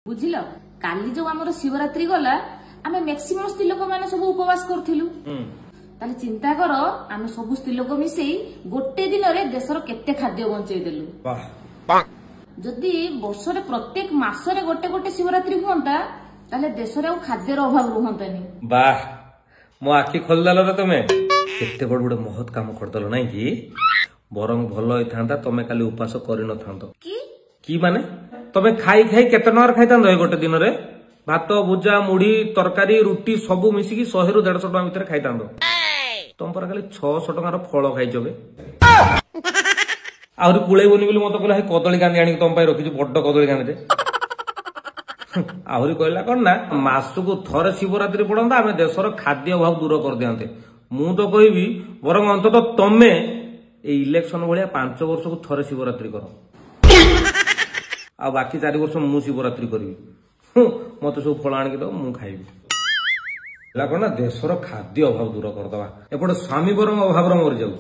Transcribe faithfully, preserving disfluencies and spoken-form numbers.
ବୁଝିଲ, କାଲି ଯୋଉ ଆମର ଶିବରାତ୍ରି ଗଲା, ଆମେ ମ୍ୟାକ୍ସିମମ୍ ସ୍ତ୍ରୀ ଲୋକମାନେ ସବୁ ଉପବାସ କରୁଥିଲୁ। ତାହେଲେ ଚିନ୍ତା କର, ଆମେ ସବୁ ସ୍ତ୍ରୀ ଲୋକ ମିଶେଇ ଗୋଟେ ଦିନରେ ଦେଶର କେତେ ଖାଦ୍ୟ ବଞ୍ଚେଇ ଦେଲୁ। ଯଦି ବର୍ଷରେ ପ୍ରତ୍ୟେକ ମାସରେ ଗୋଟେ ଗୋଟେ ଶିବରାତ୍ରି ହୁଅନ୍ତା, ତାହେଲେ ଦେଶରେ ଆଉ ଖାଦ୍ୟର ଅଭାବ ରୁହନ୍ତାନି। ବାহ, ମୋ ଆଖି ଖୋଲିଦେଲ ରେ ତମେ। କେତେ ବଡ ଗୋଟେ ମହତ କାମ କରିଦେଲ, ନାଇଁ କି? ବରଂ ଭଲ ହେଇଥାନ୍ତା ତମେ କାଲି ଉପାସ କରିନଥାନ୍ତ। କି? କି ମାନେ, ତମେ ଖାଇ ଖାଇ କେତେ ଟଙ୍କାର ଖାଇଥାନ୍ତ? ଏ ଗୋଟେ ଦିନରେ ଭାତ, ଭୁଜା, ମୁଢି, ତରକାରୀ, ରୁଟି ସବୁ ମିଶିକି ଶହେରୁ ଦେଢଶହ ଟଙ୍କା ଭିତରେ ଖାଇଥାନ୍ତ। ତମ ପରା ଖାଲି ଛଅଶହ ଟଙ୍କାର ଫଳ ଖାଇଛ ବେ। ଆହୁରି କୁଳେଇବନି ବୋଲି ମତେ କହିଲା, କଦଳୀ କାନ୍ଦି ଆଣିକି ତମ ପାଇଁ ରଖିଛୁ, ବଡ କଦଳୀ କାନ୍ଦିଟେ। ଆହୁରି କହିଲା କଣ ନା, ମାସକୁ ଥରେ ଶିବରାତ୍ରି ପଡନ୍ତା, ଆମେ ଦେଶର ଖାଦ୍ୟ ଅଭାବ ଦୂର କରିଦିଅନ୍ତେ। ମୁଁ ତ କହିବି, ବରଂ ଅନ୍ତତଃ ତମେ ଏଇ ଇଲେକ୍ସନ ଭଳିଆ ପାଞ୍ଚ ବର୍ଷକୁ ଥରେ ଶିବରାତ୍ରି କର, ଆଉ ବାକି ଚାରି ବର୍ଷ ମୁଁ ଶିବରାତ୍ରି କରିବି। ମତେ ସବୁ ଫଳ ଆଣିକି ଦବ, ମୁଁ ଖାଇବି। ହେଲା କଣ ନା, ଦେଶର ଖାଦ୍ୟ ଅଭାବ ଦୂର କରିଦବା। ଏପଟେ ସ୍ୱାମୀ ବରଂ ଅଭାବର ମରିଯାଉ।